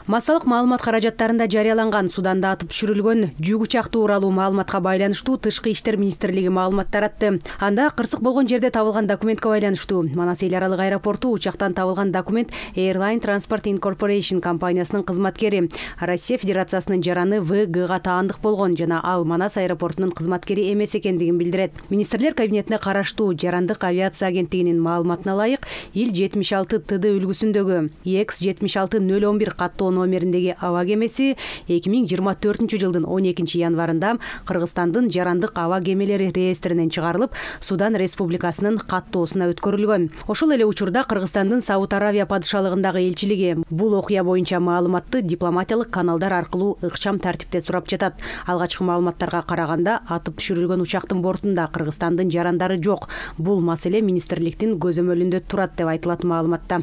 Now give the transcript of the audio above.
Массалык маалымат каражаттарында жарыяланган Суданда атып түшүрүлгөн жүк учакты ууралуу маалыматка байланыштуу Тышкы иштер министрлиги маалымат таратты. Анда кырсык болгон жерде табылган документке байланыштуу Манас эл аралык аэропорту учактан табылган документ Airline Transport Incorporation компаниясынын кызматкери, Россия Федерациясынын жараны ВГга таандык болгон жана ал Манас аэропортунун кызматкери эмес экендигин билдирет. Министрлер кабинетине караштуу Жарандык авиация агенттигинин маалыматына ылайык, ил 76 ТД үлгүсүндөгү EX-76-011 каттоо номериндеги аба кемеси 2024 жылдын 12 январында Кыргызстандын жарандык аба кемелери реестринен чыгарылып, Судан Республикасынын каттоосуна өткөрүлгөн. Ошол эле учурда Кыргызстандын Сауд Аравия падышалыгындагы элчилиги бул окуя боюнча маалыматты дипломатиялык каналдар аркылуу ыкчам тартипте сурап жатат. Алгачкы маалыматтарга караганда атып түшүрүлгөн учактын бортунда Кыргызстандын жарандары жок. Бул маселе министрликтин көзөмөлүндө турат деп айтылат маалыматта.